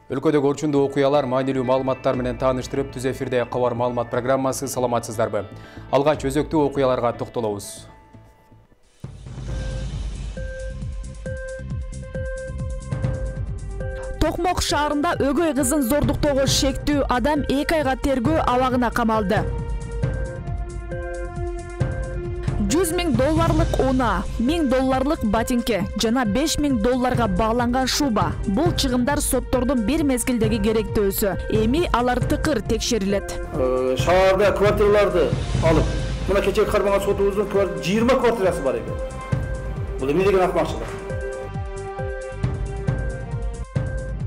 Өлкөдөгү орчундуу окуялар маанилүү маалыматтар менен тааныштырып, түз эфирде кабар маалымат программасы. Саламатсыздарбы? Алгач өзөктүү окуяларга токтолобуз. Токмок шаарында өгөй кызын зордуктоого шектүү адам 2 айга тергөө абагына камалды. 100 000 долларлык уна, $1000 ботинке жана $5000 багланган шуба. Бул чыгымдар соттордун бир мезгилдеги керектөөсү. Эми алар тыкыр текшерилет. Шаарда квартираларды алып, мына кечеги кармаган сотубуздун 20 квартирасы бар экен. Бул эмне деген акмакчылык?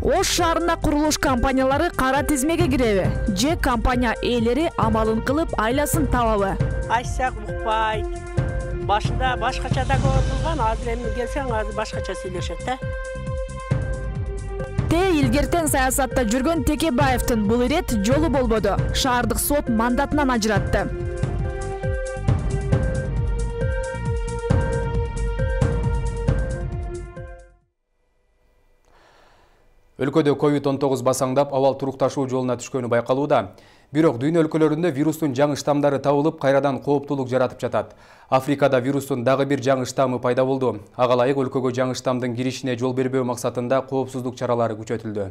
Ош шаарына курулуш компаниялары кара тизмеге киреби? Же компания ээлери амалын кылып айласын табабы? Айтсак укпайт. Башында башкача да көрүлгөн, азыр эми келсең азыр башкача сүйлөшөт да. Илгертен саясатта жүргөн Текебаевдин бул ирет жолу болбоду. Шаардык сот мандатынан ажыратты. Өлкөдө COVID-19 басаңдап, абал турукташуу жолуна түшкөнү байкалууда. Бирок дүйнө өлкөлөрүндө вирустун жаңы штамдары табылып, кайрадан кооптуулук жаратып жатат. Африкада вирустун дагы бир жаңы штаммы пайда болду. Ага ылайык өлкөгө жаңы штамдын киришине жол бербөө максатында коопсуздук чаралары күчөтүлдү.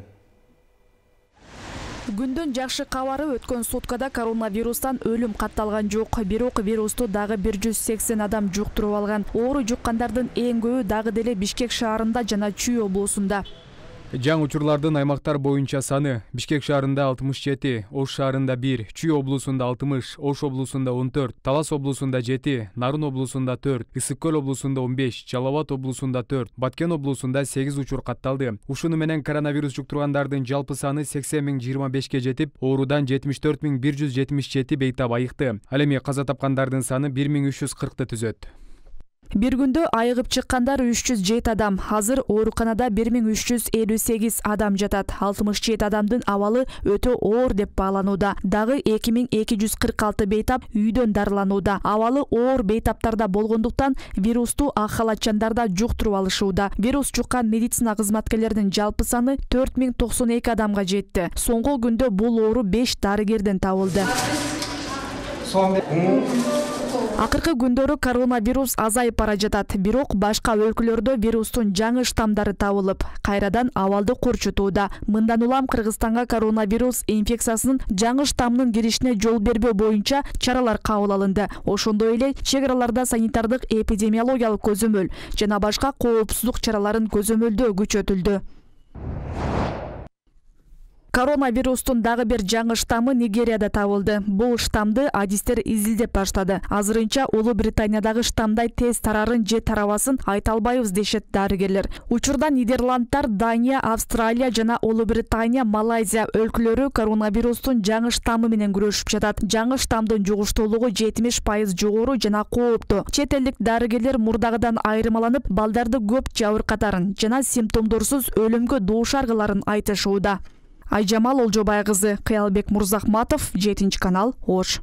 Күндүн жакшы кабары өткөн суткада коронавирустан өлүм катталган жок. Бирок вирусту дагы 180 адам жуктуруп алган. Оору жуккандардын эң көбү дагы деле Бишкек шаарында жана Чүй облусунда. Жаңы учурлардын аймактар боюнча саны: Бишкек шаарында 67, Ош шаарында 1, Чүй облусунда 60, Ош облусунда 14, Талас облусунда 7, Нарын облусунда 4, Ысык көл облусунда 15, Жалал Абад облусунда 4, Баткен облусунда 8 учур катталды. Ушуну менен коронавирус жуктургандардын жалпы саны 80 025 жетип, оорудан 74 177 бейтап айыкты. Ал эми каза тапкандардын саны 1340 түзөт. Бир күндө айыгып чыккандар 307 адам. Азыр ооруканада 1358 адам жатат. 67 адамдын абалы өтө оор деп бааланууда. Дагы 2246 бейтап үйдөн дарыланууда. Абалы оор бейтаптарда болгондуктан вирусту ак халатчандарда жуктуруп алышууда. Вирус жуккан медицина кызматкерлеринин жалпы саны 4092 адамга жетти. Соңку күндө бул оору 5 дарыгерден табылды. Акыркы күндөрү коронавирус азайып бара жатат, бирок башка өлкөлөрдө вирустун жаңы штамдары табылып, кайрадан абалды курчутууда. Мындан улам Кыргызстанга коронавирус инфекциясынын жаңы штаммынын киришине жол бербөө боюнча чаралар кабыл алынды. Ошондой эле чек араларда санитардык эпидемиологиялык көзөмөл жана башка коопсуздук чараларын көзөмөлдөө күчөтүлдү. Коронавирустун дагы бир жаңы штаммы Нигерияда табылды. Бул штамды адистер изилдеп баштады. Азырынча Улуу Британиядагы штамдай тез тарарын же тарабасын айта албайбыз дешет дарыгерлер. Учурда Нидерландтар, Дания, Австралия жана Улуу Британия, Малайзия өлкөлөрү коронавирустун жаңы штаммы менен күрөшүп жатат. Жаңы штамдын жугуштуулугу 70% жогору жана кооптуу. Чет элдик дарыгерлер мурдагыдан айырмаланып, балдарды көп жабыркатарын жана симптомдорсуз өлүмгө дуушаргыларын айтышууда. Айжамал Олжобай кызы, Кыялбек Мурзахматов, 7-канал, Ош.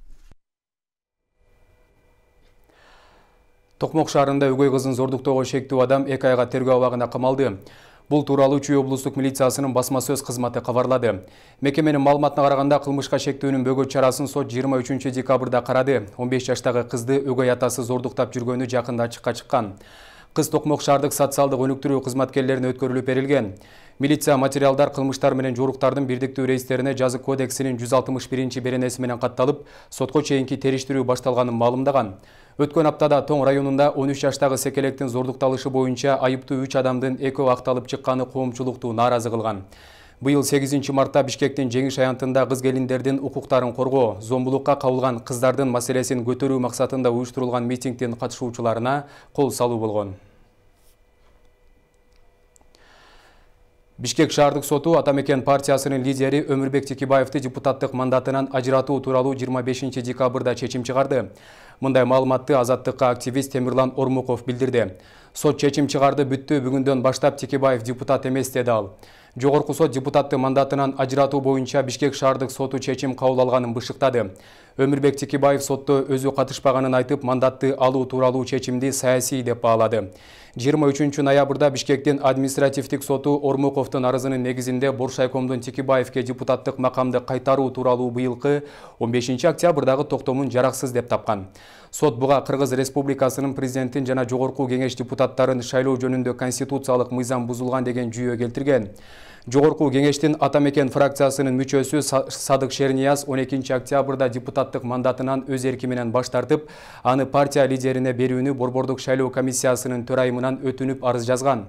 Токмок шаарында өгөй кызын зордуктоого шектүү адам 2 айга тергөө абагына камалды. Бул тууралуу Чүй облустук милициясынын басма сөз кызматы кабарлады. Мекеменин маалыматына караганда кылмышка шектүүнүн бөгөт чарасын сот 23 декабрда карады. 15 жаштагы кызды өгөй атасы зордуктап жүргөнү жакында ачыкка чыккан. Кыз Токмок шаардык социалдык өнүктүрүү кызматкерлерине өткөрүлүп берилген. Милиция материалдар кылмыштар менен жоруктардын бирдиктүү рейстерине жазык кодексинин 161 беренеси менен катталып, сотко чейинки териштирүү башталганын маалымдаган. Өткөн аптада Тоң районунда 13 жаштагы секелектин зордукталышы боюнча айыптуу 3 адамдын экөө акталып чыкканы коомчулукту нааразы кылган. Быйыл 8 мартта Бишкектин Жеңиш аянтында кыз келиндердин укуктарын коргоо, зомбулукка кабылган кыздардын маселесин көтөрүү максатында уюштурулган митингдин катышуучуларына кол салуу болгон. Бишкек шаардык соту Атамекен партиясынын лидери Өмүрбек Текебаевди депутаттык мандатынан ажыратуу тууралуу 25 декабрда чечим чыгарды. Мындай маалыматты Азаттыкка активист Темирлан Ормуков билдирди. Сот чечим чыгарды, бүттү, бүгүндөн баштап Текебаев депутат эмес деди ал. Жогорку сот депутатты мандатынан ажыратуу боюнча Бишкек шаардык соту чечим кабыл алганын бышыктады. Өмүрбек Текебаев сотто өзү катышпаганын айтып, мандатты алуу тууралуу чечимди саясий деп баалады. 23 ноябрда Бишкектин административдик соту Ормуковдун арызынын негизинде Боршайкомдун Текебаевке депутаттык макамды кайтаруу тууралуу быйылкы 15 октябрдагы токтомун жараксыз деп тапкан. Сот буга Кыргыз Республикасынын президентин жана жогорку кеңеш депутаттарын шайлоо жөнүндө конституциялык мыйзам бузулган деген жүйө келтирген. Жогорку кеңештин Атамекен фракциясынын мүчөсү Садык Шернияз 12 октябрда депутаттык мандатынан өз эрки менен баш тартып, аны партия лидерине берүүнү Борбордук шайлоо комиссиясынын төрайымынан өтүнүп арыз жазган.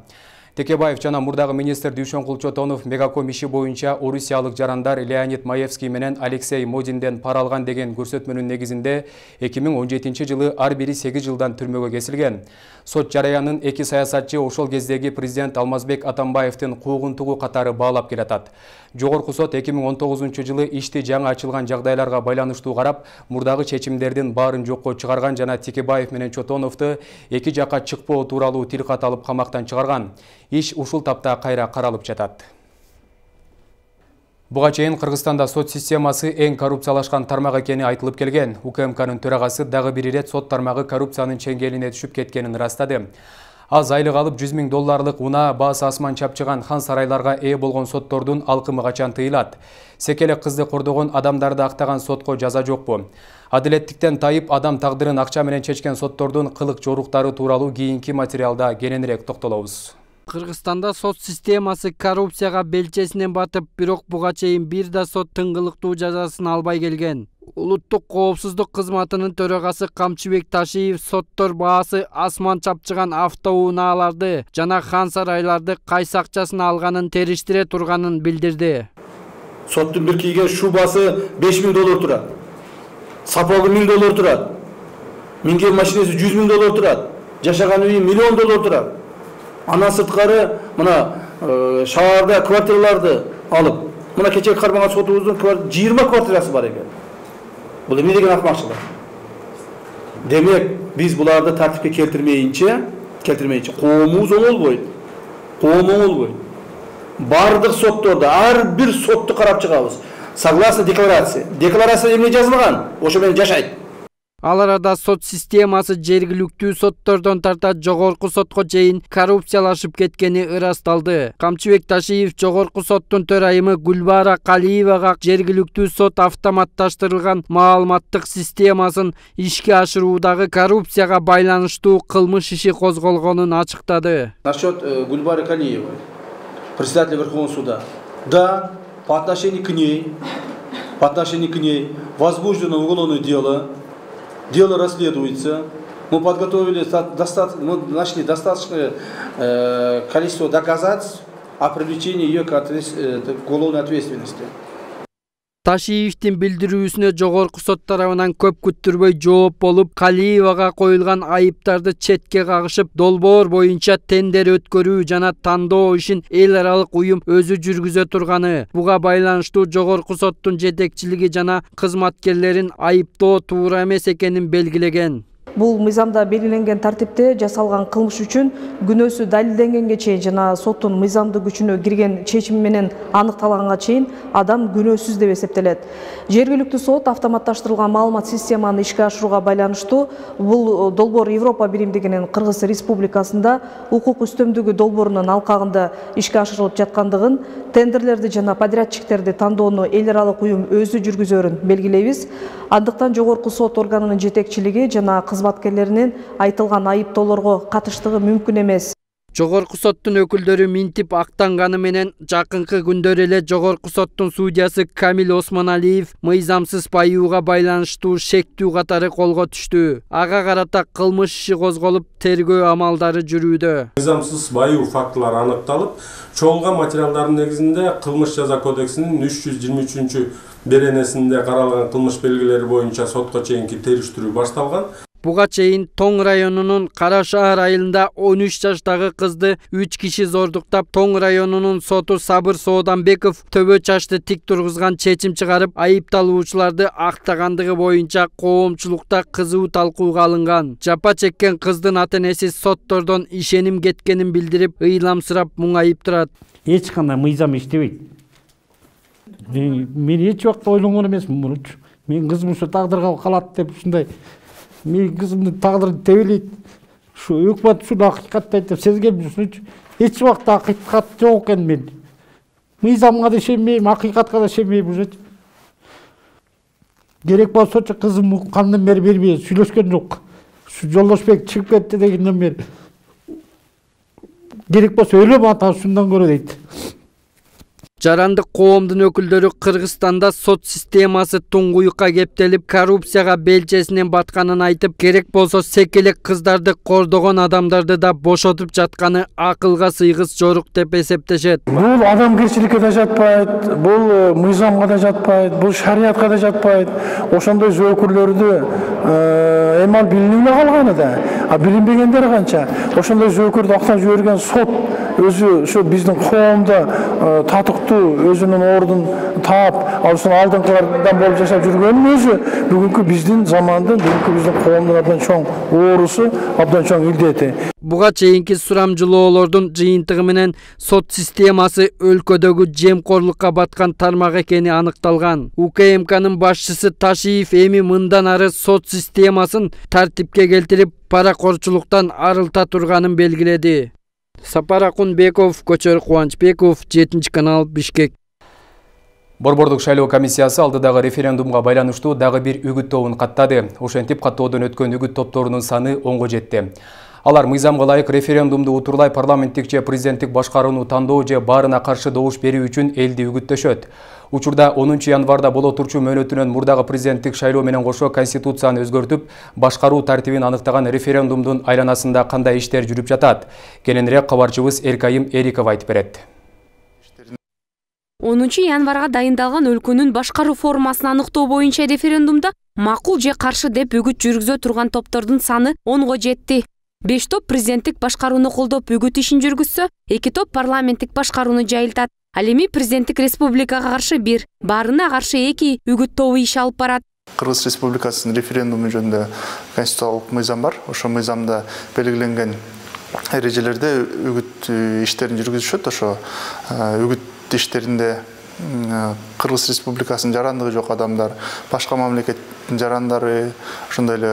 Текебаев жана мурдагы министр Дүйшөн Кулчотонов Мегаком иши боюнча орусиялык жарандар Леонид Маевский менен Алексей Модинден пара алган деген көрсөтмөнүн негизинде 2017 жылы ар бири 8 жылдан түрмөгө кесилген. Сот жараянын эки саясатчы ошол кездеги президент Алмазбек Атамбаевдин куугунтугу катары баалап келатат. Жогорку сот 2019 жылы ишти жаңы ачылган жагдайларга байланыштуу карап, мурдагы чечимдердин баарын жокко чыгарган жана Текебаев менен Чотоновду эки жакка чыкпоо тууралуу тилкат алып камактан чыгарган. Иш ушул тапта кайра каралып жатат. Буга чейин Кыргызстанда сот системасы эң коррупциялашкан тармак экени айтылып келген. УКМКнын төрагасы дагы бир ирет сот тармагы коррупциянын чеңгелине түшүп кеткенин ырастады. Аз айлык алып $100 000 уна баасы асман чапчыган хан сарайларга ээ болгон соттордун алкымы качан тыйылат? Секелек кызды кордогон адамдарды актаган сотко жаза жокпу? Адилеттиктен тайып адам тагдырын акча менен чечкен соттордун кылык жоруктары тууралуу кийинки материалда кененирээк токтолобуз. Кыргызстанда сот системасы коррупцияга белчесинен батып, бирок буга чейин бир да сот тыңгылыктуу жазасын албай келген. Улуттук коопсуздук кызматынын төрагасы Камчыбек Ташиев соттор баасы асман чапчыган автоунааларды жана хан сарайларды кайсы акчасын алганын териштире турганын билдирди. Соттун бир кийген шубасы $5 000 турат. Сапогу $1000 турат. Минген машинеси $100 000 турат. Жашаган үйү $1 000 турат. Андан сырткары мына шаарда квартираларды алып, мына кечеги кармаган сотубуздун 20 квартирасы бар экен. Бул эмне деген акмакчылык? Демек, биз буларды тартипке келтирмейинче коомубуз оңолбойт. Коом оңолбойт. Бардык соттордо ар бир сотту карап чыгабыз. Согласно декларация. Декларация эмне жазылган? Ошо менен жашайт. Ал арада сот системасы жергиликтүү соттордон тарта жогорку сотко чейин коррупциялашып кеткени ырасталды. Камчыбек Ташиев жогорку соттун төрайымы Гүлбара Калиевага жергиликтүү сот автоматташтырылган маалыматтык системасын ишке ашыруудагы коррупцияга байланыштуу кылмыш иши козголгонун ачыктады. Насчет Гүлбары Калиевой, председателя Верховного суда. Да, по отношению к ней возбуждено уголовное дело. Дело расследуется. Мы подготовили нашли достаточное количество доказательств о привлечении ее к уголовной ответственности. Ташиевдин билдирүүсүнө жогорку сот тарабынан көп күттүрбөй жооп болуп, Калиевага коюлган айыптарды четке кагышып, долбоор боюнча тендер өткөрүү жана тандоо ишин эл аралык уюм өзү жүргүзө турганы. Буга байланыштуу жогорку соттун жетекчилиги жана кызматкерлерин айыптоо туура эмес экенин белгилеген. Бул мыйзамда белгиленген тартипте жасалган кылмыш үчүн күнөөсү далилденгенге чейин жана соттун мыйзамдык күчүнө кирген чечими менен аныкталганга чейин адам күнөөсүз деп эсептелет. Жергиликтүү сот автоматташтырылган маалымат системаны ишке ашырууга байланыштуу бул долбоор Европа биримдигинин Кыргыз Республикасында укук үстөмдүгү долбоорунун алкагында ишке ашырылып жаткандыгын, тендерлерди жана подрядчиктерди тандоону эл аралык уюм өзү жүргүзөрүн белгилейбиз. Андыктан жогорку сот органынын жетекчилиги жана кызматкерлеринин айтылган айыптоолорго катыштыгы мүмкүн эмес. Жогорку соттун өкүлдөрү минтип актанганы менен жакынкы күндөр эле жогорку соттун судьясы Камил Осмоналиев мыйзамсыз байууга байланыштуу шектүү катары колго түштү. Ага карата кылмыш иши козголуп, тергөө амалдары жүрүүдө. Мыйзамсыз байуу фактылары аныкталып, чогулган материалдардын негизинде Кылмыш жаза кодексинин 323 беренесинде каралган кылмыш белгилери боюнча сотко чейинки териштирүү башталган. Буга чейин Тоң районунун Кара шаар айылында 13 жаштагы кызды 3 киши зордуктап, Тоң районунун соту Сабыр Сооданбеков төбө чачты тик тургузган чечим чыгарып, айыпталуучуларды актагандыгы боюнча коомчулукта кызуу талкууга алынган. Жапа чеккен кыздын ата-энеси соттордон ишеним кеткенин билдирип, ыйламсырап муңайып турат. эч кандай мыйзам иштебейт. Мен эч убакта ойлонгон эмесмин мурунчу. Мен кызым ушу тагдырга калат деп ушундай. Мен кызымдын тагдыры тебелейт. Ушу өкмөт ушуну акыйкаттайт деп сезгем ушунчу. Эч убакта акыйкат жок экен мен. Мыйзамга да ишенбейм, акыйкатка да ишенбейм уже. Керек болсочу кызым кандын бери бербей сүйлөшкөн жок. Ушу Жолдошбек чыгып кетти дегенден бери. Керек болсо өлөм ата ушундан көрө дейт. Жарандык коомдун өкүлдөрү Кыргызстанда сот системасы туңгуюкка кептелип, коррупцияга белчесинен батканын айтып, керек болсо секелек кыздарды кордогон адамдарды да бошотуп жатканы акылга сыйгыс жорук деп эсептешет. Бул адамгерчиликке да жатпайт, бул мыйзамга да жатпайт, бул шариятка да жатпайт. Ошондой зөөкүрлөрдү эмал билинип калганы да. А билинбегендер канча? Ошондой зөөкүрдү актап жиберген сот өзү ошо биздин коомдо татыктуу өзүнүн ордун таап, ушун алдыңкылардан болуп жашап жүргөнүн өзү бүгүнкү биздин замандын, бүгүнкү биздин коомдун абдан чоң оорусу, абдан чоң илдети. Буга чейинки сурамжылоолордун жыйынтыгы менен сот системасы өлкөдөгү жемкорлукка баткан тармак экени аныкталган. УКМКнын башчысы Ташиев эми мындан ары сот системасын тартипке келтирип, паракорчулуктан арылта турганын белгиледи. Сапар Акунбеков, Көчөр Кубанычбеков, 7-канал, Бишкек. Борбордук шайлоо комиссиясы алдыдагы референдумга байланыштуу дагы бир үгүт тобун каттады. Ошентип каттоодон өткөн үгүт топторунун саны 10го жетти. Алар мыйзамга ылайык референдумду утурлай парламенттик же президенттик башкарууну тандоо же баарына каршы добуш берүү үчүн элди үгүттөшөт. Учурда 10 январда боло турчу мөөнөтүнөн мурдагы президенттик шайлоо менен кошо конституцияны өзгөртүп, башкаруу тартибин аныктаган референдумдун айланасында кандай иштер жүрүп жатат? Кененирээк кабарчыбыз Эркайым Эриков айтып берет. 10 январга дайындалган өлкөнүн башкаруу формасын аныктоо боюнча референдумда макул же каршы деп үгүт жүргүзө турган топтордун саны 10го жетти. 5 топ президенттик башкарууну колдоп үгүт ишин жүргүзсө, 2 топ парламенттик башкарууну жайылтат. Ал эми президенттик республикага каршы 1, баарына каршы 2 үгүт тобу иш алып барат. Кыргыз Республикасынын референдуму жөнүндө конституциялык мыйзам бар. Ошо мыйзамда белгиленген эрежелерде үгүт иштерин жүргүзүшөт. Ошо үгүт иштеринде Кыргыз Республикасынын жарандыгы жок адамдар, башка мамлекеттин жарандары, ошондой эле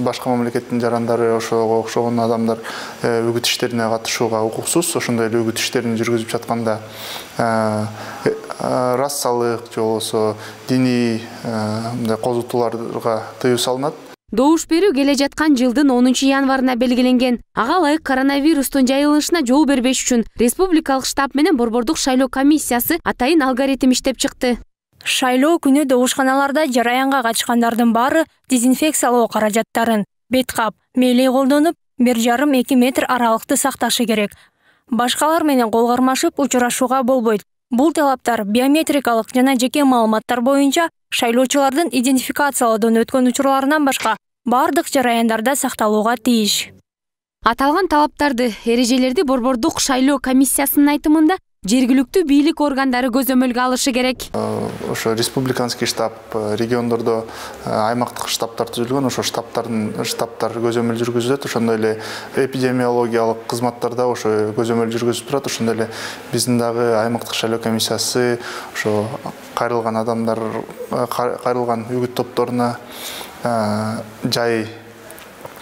башка мамлекеттин жарандары, ошого окшогон адамдар үгүт иштерине катышууга укуксуз. Ошондой эле үгүт иштерин жүргүзүп жатканда расалык же болбосо диний козутууларга тыюу салынат. Добуш берүү келе жаткан жылдын 10 январына белгиленген. Ага ылайык коронавирустун жайылышына жол бербеш үчүн республикалык штаб менен борбордук шайлоо комиссиясы атайын алгоритм иштеп чыкты. Шайлоо күнү добушканаларда жараянга катышкандардын баары дезинфекциялоо каражаттарын, бет кап, мээлей колдонуп, 1,5-2 метр аралыкты сакташы керек. Башкалар менен кол кармашып учурашууга болбойт. Бул талаптар биометрикалык жана жеке маалыматтар боюнча шайлоочулардын идентификациялоодон өткөн учурларынан башка бардык жараяндарда сакталууга тийиш. Аталган талаптарды, эрежелерди борбордук шайлоо комиссиясынын айтымында жергиликтүү бийлик органдары көзөмөлгө алышы керек. Ошо республиканский штаб, региондордо аймактык штабтар түзүлгөн, ошо штабтар көзөмөл жүргүзүлөт. Ошондой эле эпидемиологиялык кызматтарда ошо көзөмөл жүргүзүп турат. Ошондой эле биздин дагы аймактык шайлоо комиссиясы ошо кайрылган адамдар, кайрылган үгүт топторуна жай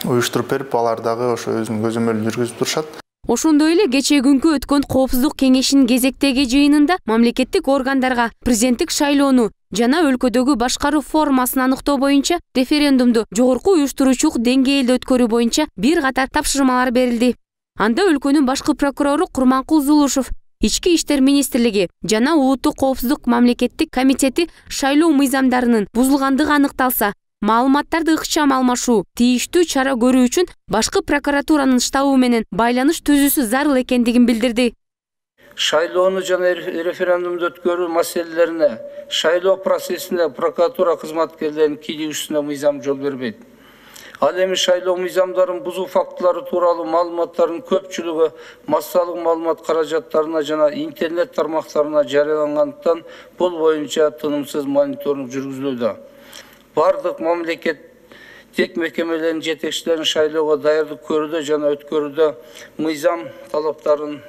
уюштуруп берип, алар дагы ошо өзүнүн көзөмөлүн жүргүзүп турушат. Ошондой эле кечээ күнкү өткөн коопсуздук кеңешинин кезектеги жыйынында мамлекеттик органдарга президенттик шайлоону жана өлкөдөгү башкаруу формасын аныктоо боюнча референдумду жогорку уюштуруучулук деңгээлде өткөрүү боюнча бир катар тапшырмалар берилди. Анда өлкөнүн башкы прокурору Курманкул Зулушев, Ички иштер министрлиги жана Улуттук коопсуздук мамлекеттик комитети шайлоо мыйзамдарынын бузулгандыгы аныкталса, маалыматтарды ыкчам алмашуу, тийиштүү чара көрүү үчүн башкы прокуратуранын штабы менен байланыш түзүүсү зарыл экендигин билдирди. Шайлоону жана референдумду өткөрүү маселелерине шайлоо процессинде прокуратура кызматкерлеринин кийлигүүсүнө мыйзам жол бербейт. Ал эми шайлоо мыйзамдарын бузуу фактылары тууралуу маалыматтардын көпчүлүгү массалык маалымат каражаттарына жана интернет тармактарына жарыялангандыктан бул боюнча тынымсыз мониторинг жүргүзүлүүдө. Бардык мамлекет тек мекемелердин жетекчилерин шайлоого даярдык көрүүдө жана өткөрүүдө мыйзам талаптарын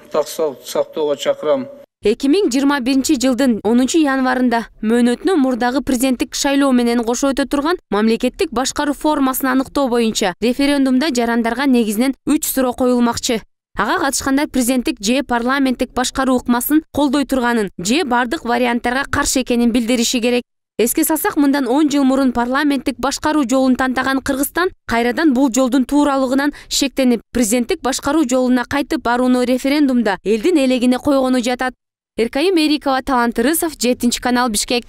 сактоого чакырам. 2021 жылдын 10 январында мөөнөтүнө мурдагы президенттик шайлоо менен кошо өтө турган мамлекеттик башкаруу формасын аныктоо боюнча референдумда жарандарга негизинен 3 суроо коюлмакчы. Ага катышкандар президенттик же парламенттик башкаруу ыкмасын колдой турганын же бардык варианттарга каршы экенин билдириши керек. Эске салсак, мындан 10 жыл мурун парламенттик башкаруу жолун тантаган Кыргызстан кайрадан бул жолдун тууралыгынан шектенип, президенттик башкаруу жолуна кайтып барууну референдумда элдин элегине койгону жатат. Эркайым Эрикова, Талант Рысов, 7-канал, Бишкек.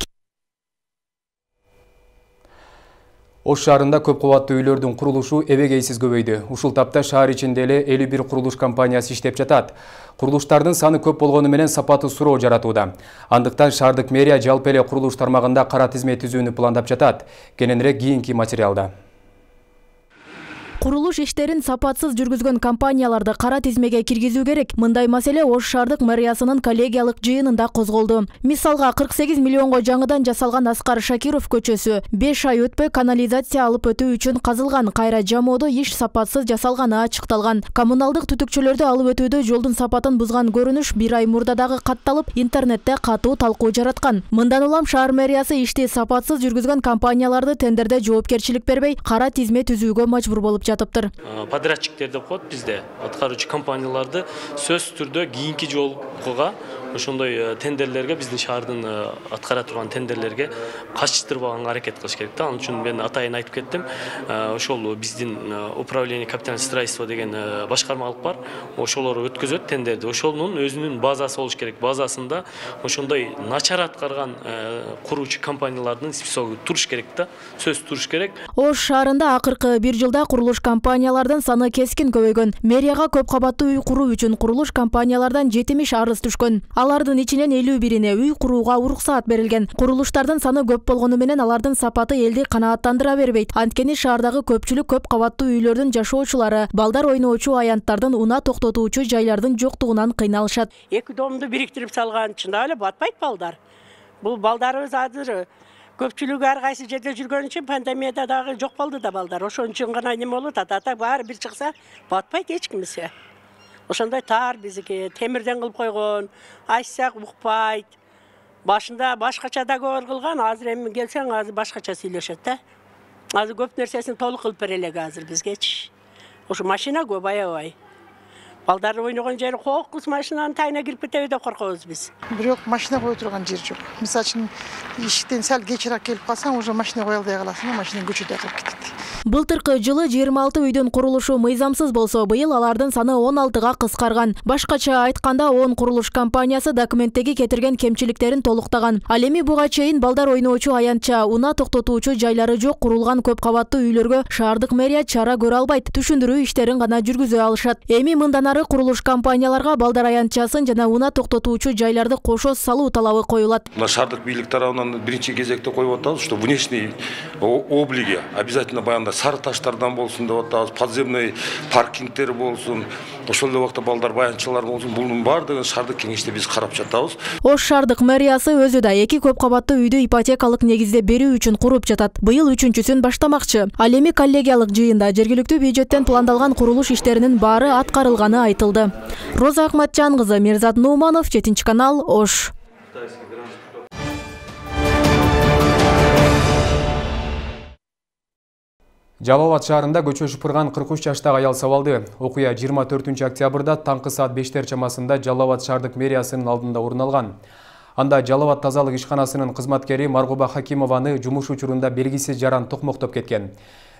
Ош шаарында көп кабаттуу үйлөрдүн курулушу эбегейсиз көбөйдү. Ушул тапта шаар ичинде эле 51 курулуш компаниясы иштеп жатат. Курулуштардын саны көп болгону менен сапаты суроо жаратууда. Андыктан шаардык мэрия жалпы эле курулуш тармагында кара тизме түзүүнү пландап жатат. Кененирээк кийинки материалда. Курулуш иштерин сапатсыз жүргүзгөн компанияларды кара тизмеге киргизүү керек. Мындай маселе Ош шаардык мэриясынын коллегиялык жыйынында козголду. Мисалга 48 миллионго жаңыдан жасалган Аскар Шакиров көчөсү 5 ай өтпөй канализация алып өтүү үчүн казылган. Кайра жамоодо иш сапатсыз жасалганы ачыкталган. Коммуналдык түтүкчөлөрдү алып өтүүдө жолдун сапатын бузган көрүнүш 1 ай мурда дагы катталып, интернетте катуу талкуу жараткан. Мындан улам шаар мэриясы ишти сапатсыз жүргүзгөн компанияларды тендерде жоопкерчилик бербей, кара тизме түзүүгө мажбур болуп жатыптыр. Подрядчиктер деп коет бизде, аткаруучу компанияларды сөзсүз түрдө кийинки жолкуга ошондой тендерлерге, биздин шаардын аткара турган тендерлерге качтырбаганга аракет кылыш керек да. Ал үчүн мен атайын айтып кеттим. Ошол биздин управление капитального строительства деген башкарма алып бар. Ошолор өткөзөт тендерди. Ошонун өзүнүн базасы болуш керек. Базасында ошондой начар аткарган куруучу компаниялардын списогу туруш керек да. Сөзсүз туруш керек. Ош шаарында акыркы 1 жылда курулуш компаниялардын саны кескин көбөйгөн. Мэрияга көп кабаттуу үй куруу үчүн курулуш компаниялардан 70 арыз түшкөн. Алардын ичинен 51-ине үй курууга уруксаат берилген. Курулуштардын саны көп болгону менен алардын сапаты элди канааттандыра бербейт. Анткени шаардагы көпчүлүк көп кабаттуу үйлөрдүн жашоочулары балдар ойноочу аянттардын унаа токтотуучу жайлардын жоктугунан кыйналышат. Эки домду бириктирип салган чында эле батпайт балдар. Бул балдарыбыз азыр көпчүлүгү ар кайсы жерде жүргөн үчүн пандемияда дагы жок болду да балдар. Ошон үчүн гана эме болот, ата баары бир чыкса батпайт эч кимсе. Ошондой таар бизики темирден кылып койгон, айтсак укпайт. Башында башкача договор кылган, азыр эми келсең азыр башкача сүйлөшөт да. Азыр көп нерсесин толук кылып бере элек азыр бизгечи. Ошо машина көп аябай. Балдар ойногон жери кокус, машинанын тайына кирип кетеби деп коркобуз биз. Бирок машина кое турган жер жок. Мисалы үчүн иштен сал кечирээк келип калсаң, уже машина кое албай каласың, машина көчөдө калып кетет. Былтыркы жылы 26 үйдүн курулушу мыйзамсыз болсо, быйыл алардын саны 16га кыскарган. Башкача айтканда 10 курулуш компаниясы документтеги кетирген кемчиликтерин толуктаган. Ал эми буга чейин балдар ойноочу аянтча, унаа токтотуучу жайлары жок курулган көп кабаттуу үйлөргө шаардык мэрия чара көрө албайт. Түшүндүрүү иштерин гана жүргүзө алышат. Эми мындан ары курулуш компанияларга балдар аянтчасын жана унаа токтотуучу жайларды кошо салуу талабы коюлат. Мына шаардык бийлик тарабынан биринчи кезекте коюп атабыз, что внешний облиги обязательно баягында сары таштардан болсун деп атабыз, подземный паркингтер болсун, ошол эле убакта балдар баянчылар болсун, бунун баардыгын шаардык кеңеште биз карап жатабыз. Ош шаардык мэриясы өзү да 2 көп кабаттуу үйдү ипотекалык негизде берүү үчүн куруп жатат. Быйыл 3-чүсүн баштамакчы. Ал эми коллегиялык жыйында жергиликтүү бюджеттен пландалган курулуш иштеринин баары аткарылганы айтылды. Роза Акматжан кызы, Мирзат Нууманов, 7-канал, Ош. Жалал Абад шаарында көчө шыпырган 43 жаштагы аял сабалды. Окуя 24 октябрда таңкы саат 5 чамасында Жалал Абад шаардык мэриясынын алдында орун алган. Анда Жалал Абад тазалык ишканасынын кызматкери Маргуба Хакимованы жумуш учурунда белгисиз жаран токмоктоп кеткен.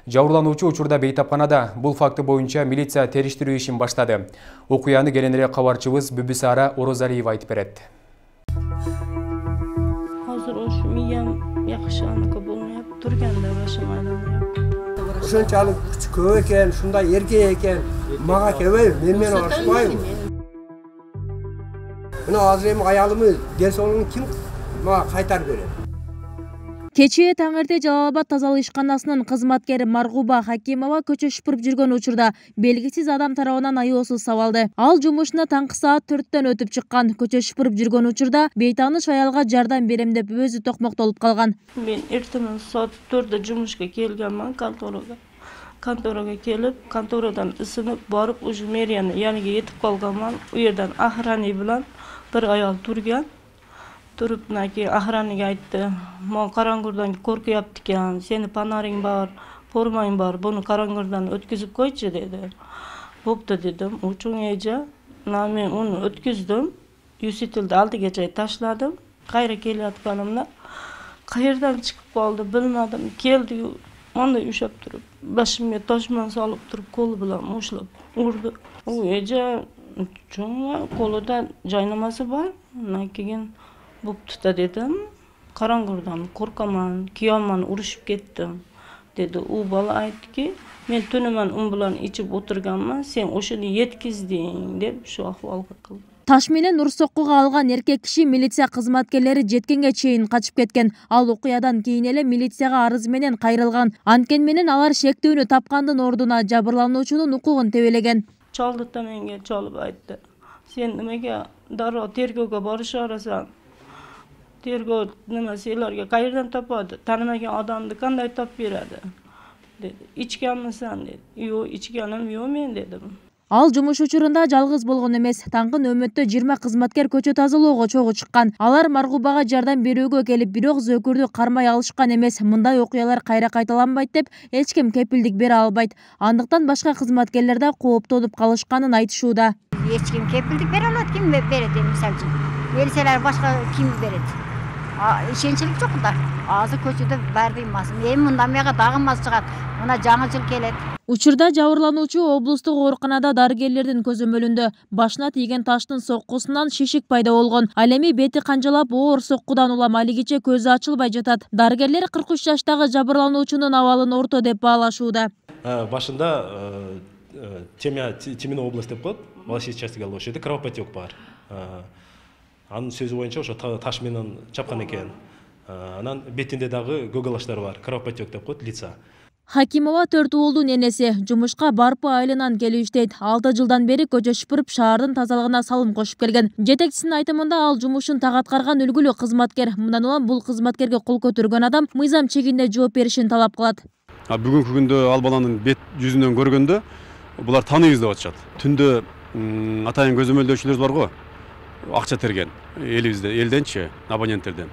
Жабырлануучу учурда бейтапканада. Бул факты боюнча милиция териштирүү ишин баштады. Окуяны кененирээк кабарчыбыз Бүбүсара Орозалиева айтып берет. Азыр ош миям жакшыганы болмоп турганда башым айланып. Ушунчалык көп экен, ушундай эркек экен, мага келбейби, менен урушпайбы? Мына азыр эми аялымыз ден соолугун ким мага кайтарып берет? Кечээ таң эрте Жалал Абад тазалык ишканасынын кызматкери Маргуба Хакимова көчө шупуруп жүргөн учурда белгисиз адам тарабынан аyoосуз сабалды. Ал жумушуна таңкы саат 4-төн өтүп чыккан. Көчө шупуруп жүргөн учурда бейтааныш аялга жардам берем деп өзү токмоктолуп калган. Мен эртең саат 4-дө жумушка келгенмин конторага. Конторага келип, конторадан ысынып барып, уже мэрияны яныга етип калганмын. У жерден охрана менен bir ayol turgan. Turib naki охранаga aytdi. "Men qarangurdan qo'rqyapti ekan, seni panaring bor, formang bor, buni qarangurdan o'tkazib qo'ychi" dedi. "Bo'pti" dedim. Uchungacha men uni o'tkazdim. Yusitildi oldigacha tashladim. Qayerga kelayotganimda qayerdan chiqib qoldi bilmadim. Keldi, mana ushab turib, boshimga toshman solib turib, qo'li bilan mushlab urdi. U eja cho'nga qo'lida joynamasi bor. Undan keyin "Bo'pti" dedim. "Qarangurdan qo'rqaman, kiyomman, urushib ketdim" dedi. U bola aytdiki, "Men tunaman un bilan ichib o'tirganman, sen o'shani yetkizding" deb shu ahvolga qildi. Таш менен ур соккуга алган эркек киши милиция кызматкерлери жеткенге чейин качып кеткен. Ал окуядан кийин эле милицияга арыз менен кайрылган. Анткени менен алар шектүүнү тапкандын ордуна жабырлануучунун укугун тебелеген. Çaldı da menga çalıp aytdı. "Sen nimaga darrov tergovga borisharasan? Tergov nima senlarga qayerdan topadi? Tanimagan odamni qanday topib beradi?" dedi. "Ichganmisan?" dedi. "Yo'q, ichganim yo'q men" dedim. Ал жумуш учурунда жалгыз болгон эмес. Таңкы нөмөттө 20 кызматкер көчө тазалоого чогуу чыккан. Алар Маргубага жардам берүүгө келип, бирок зөкүрдү кармай алышкан эмес. Мындай окуялар кайра кайталанбайт деп эч ким кепилдик бере албайт. Андыктан башка кызматкерлер да кооптонуп калышканын айтышууда. Эч ким кепилдик бере алат, ким берет эми мисалы үчүн. Берселер башка ким берет? Ишенчилик жок да. Азыр көчөдө баары ыймасын. Эми мындан мага дагы мас чыгат. Мына жаңы жыл келет. Учурда жабырлануучу облустук ооруканада дарыгерлердин көзөмөлүндө. Башына тийген таштын соккусунан шишик пайда болгон. Ал эми бети канжалап оор соккудан улам алигиче көзү ачылбай жатат. Дарыгерлер 43 жаштагы жабырлануучунун абалын орто деп баалашууда. Башында Темина область деп коет. Волосий частига ошол жерде кровопотек бар. Анын сөзү боюнча ошо таш менен чапкан экен. Анан бетинде дагы көгалаштар бар. Кровопотек деп коет лица. Хакимова 4 уулдун энеси. Жумушка Барпы айылынан келип иштейт. 6 жылдан бери көчө шупуруп шаардын тазалыгына салым кошуп келген. Жетекчисинин айтымында ал жумушун так аткарган үлгүлүү кызматкер. Мындан улам бул кызматкерге кол көтөргөн адам мыйзам чегинде жооп беришин талап кылат. Бүгүнкү күндө ал баланын бет жүзүнөн көргөндө булар тааныбыз деп атышат. Түндө атайын көзөмөлдөөчүлөр бар го. Акча терген элибизде, элденчи, абоненттерден.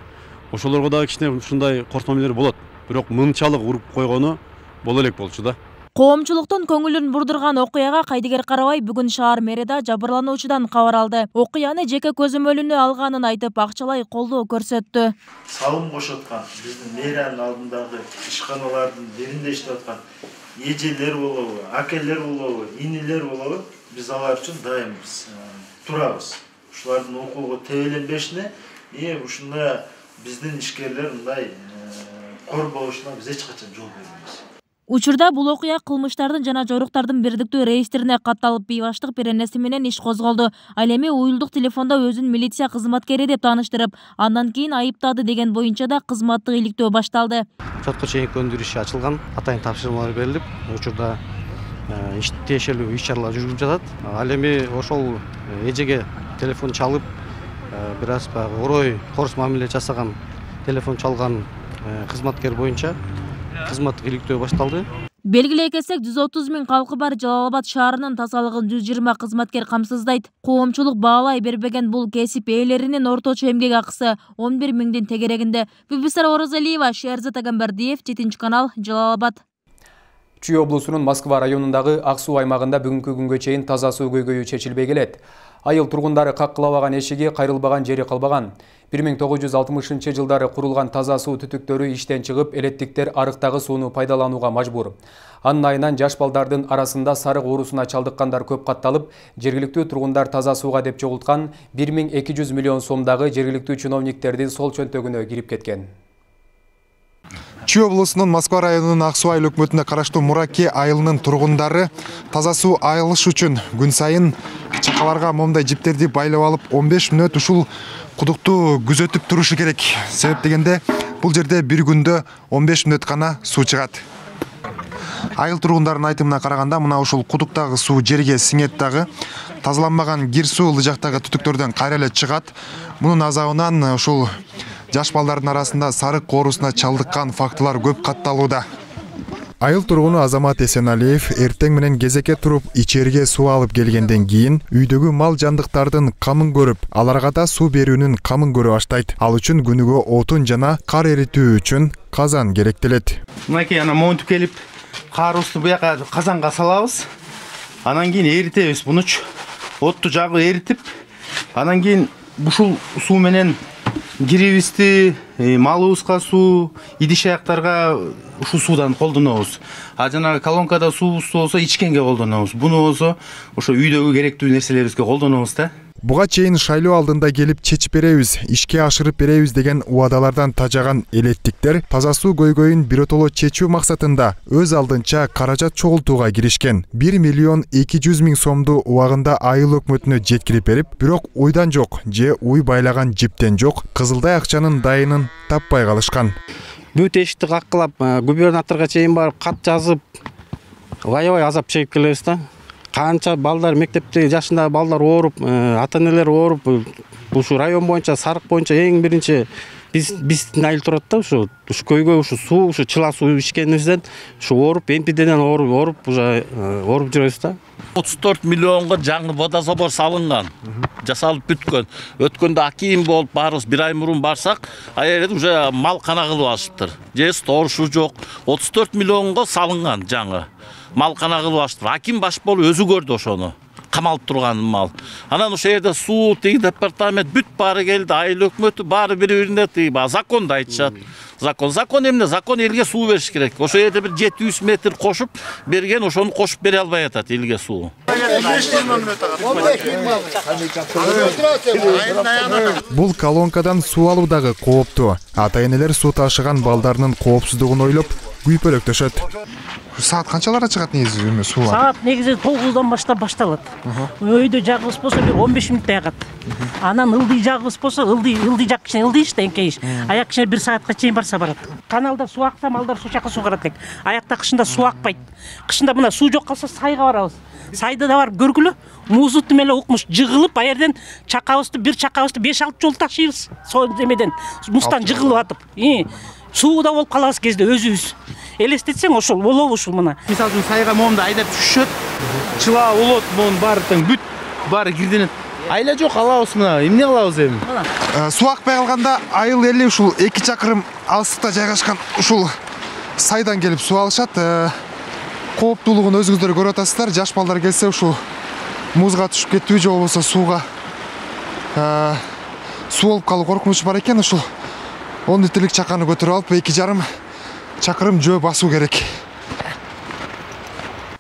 Ошолорго дагы кичине ушундай кортмомелер болот. Бирок мынчалык уруп койгону боло элек болчу да. Коомчулуктун көңүлүн бурдурган окуяга кайдыгер карабай бүгүн шаар мэри да жабырлануучудан кабар алды. Окуяны жеке көзөмөлүнө алганын айтып, акчалай колдоо көрсөттү. Салым кошоткан биздин мэриянын алдындагы ишканалардын биринде иштеп аткан эжелер болобу, акелер болобу, инилер болобу, биз алар үчүн дайым турабыз. Ушулардын укугу тебеленбешине, ушундай биздин ишкерлер мындай корбошуна биз эч качан жол бербейбиз. Учурда бул окуя кылмыштардын жана жоруктардын бирдиктүү реестрине катталып, бейбаштык беренеси менен иш козголду. Ал эми уюлдук телефондо өзүн милиция кызматкери деп тааныштырып, андан кийин айыптады деген боюнча да кызматтык иликтөө башталды. Сотко чейинки өндүрүү иши ачылган, атайын тапшырмалар берилип, учурда тиешелүү иш-чаралар жүрүп жатат. Ал эми ошол эжеге телефон чалып, бир аз орой корс мамиле жасаган, телефон чалган кызматкер боюнча кызматтык иликтөө башталды. Белгилей кетсек, 130 миң калкы бар Жалал Абад шаарынын тазалыгын 120 кызматкер камсыздайт. Коомчулук баалай бербеген бул кесип ээлеринин орточо эмгек акысы 11 миңдин тегерегинде. Бүбүсар Оразалиева, Шерзат Агамбардиев, 7 канал, Жалал Абад. Чүй облусунун Москва районундагы ак суу аймагында бүгүнкү күнгө чейин таза суу көйгөйү чечилбей келет. Айыл тургундары каккылабаган эшиги, кайрылбаган жери калбаган. 1960 жылдары курулган таза суу түтүктөрү иштен чыгып, элеттиктер арыктагы сууну пайдаланууга мажбур. Анын айынан жаш балдардын арасында сарык оорусуна чалдыккандар көп катталып, жергиликтүү тургундар таза сууга деп чогулткан 1200 миллион сомдагы жергиликтүү чиновниктердин сол чөнтөгүнө кирип кеткен. Чүй облусунун Москва районунун Ак суу айыл өкмөтүнө караштуу Мураке айылынын тургундары таза суу айылыш үчүн күн сайын чакаларга момундай жиптерди байлап алып 15 мүнөт ушул кудукту күзөтүп турушу керек. Себеп дегенде Бул жерде бир күндө 15 мүнөт гана суу чыгат. Айыл тургундарынын айтымына караганда, мына ушул кудуктагы суу жерге сиңет дагы, тазаланбаган кир суу ылдый жактагы түтүктөрдөн кайра эле чыгат. Мунун азабынан ушул жаш балдардын арасында сарык оорусуна чалдыккан фактылар көп катталууда. Айыл тургуну Азамат Эсеналиев эртең менен кезекке туруп ичерге суу алып келгенден кийин үйдөгү мал жандыктардын камын көрүп, аларга да суу берүүнүн камын көрө баштайт. Ал үчүн күнүгө отун жана кар эритүү үчүн казан керектелет. Мынакей монтип келип, карыбызды буяка казанга салабыз. Анан кийин эритебиз. Мунуч отту жагып эритип, анан кийин ушул суу менен кирибизди, малыбызга суу, идиш аяктарга ушул суудан колдонобуз. А жанагы колонкада суубуз болсо ичкенге колдонобуз. Буну болсо ошо үйдөгү керектүү нерселерибизге колдонобуз да. Буга чейин шайлоо алдында келип чечип беребиз, ишке ашырып беребиз деген убадалардан тажаган элеттиктер таза суу көйгөйүн биротоло чечүү максатында өз алдынча каражат чогултууга киришкен. 1 миллион 200 миң сомду убагында айыл өкмөтүнө жеткирип берип, бирок уйдан жок же уй байлаган жиптен жок, кызылдай акчанын дайынын таппай калышкан. Бүт эшикти каккылап, губернаторго чейин барып кат жазып, аябай азап чегип келебиз да. Канча балдар мектепте жашындагы балдар ооруп, ата-энелер ооруп, ушу район боюнча, сарык боюнча эң биринчи биздин айыл турат да, ушу көйгөй, ушу суу, ушу чыла суу ичкенибизден, ушу ооруп, эмпиден ооруп, уже ооруп жүрөбүз да. 34 миллионго жаңы водозабор салынган, жасалып бүткөн. Өткөндө аким болуп барыбыз бир ай мурун барсак, аерде уже мал кана кылып алышыптыр. Же сторшу жок. 34 миллионго салынган жаңы. Мал кана кылып алышыптыр. Аким баш болуп өзү көрдү ошону. Камалып турган мал. Анан ошол жерде суу, тиги департамент бүт баары келди, айыл өкмөтү баары бири-бирине тиги законду айтышат. Закон эмне? Закон элге суу бериш керек. Ошол жерде бир 700 метр кошуп берген, ошону кошуп бере албай атат элге суу. Бул колонкадан суу алуу дагы кооптуу. Ата-энелер суу ташыган балдарынын коопсуздугун ойлоп күйпөлөктөшөт. Саат канчаларда чыгат негизи суу? Саат негизи 9-дан башталат. Өйдө жагыбыз болсо бир 15 мүнөттө ягат. Анан ылдый жагыбыз болсо ылдый жак кичине ылдый эңкейиш. Аяк кичине 1 саатка чейин барса барат. Каналда суу акса малдар суу жакка суугарат элек. Аякта кышында суу акпайт. Кышында мына суу жок калса сайга барабыз. Сайды да барып көргүлө. Музут менен укмуш жыгылып, аерден бир чакабызды 5-6 жол ташыйбыз. Сол эмеден мустан жыгылып атып. Сууда болуп калабыз кезде өзүбүз. Элестетсең ошол болобу ушул мына. Мисалы үчүн сайга момунда айдап түшөт. Чыла болот, монун баары тең бүт баары кирденет. Айла жок, алабыз мына. Эмне кылабыз эми? Суу акпай калганда айыл эли ушул 2 чакырым алыстыкта жайгашкан ушул сайдан келип суу алышат. Кооптуулугун өзүңүздөр көрүп атасыздар. Жаш балдар келсе ушул музга түшүп кетүү же болбосо сууга суу болуп калуу коркунучу бар экен. Ушул 10 литрлик чаканы көтөрүп алып 2,5 чакырым жөө басуу керек.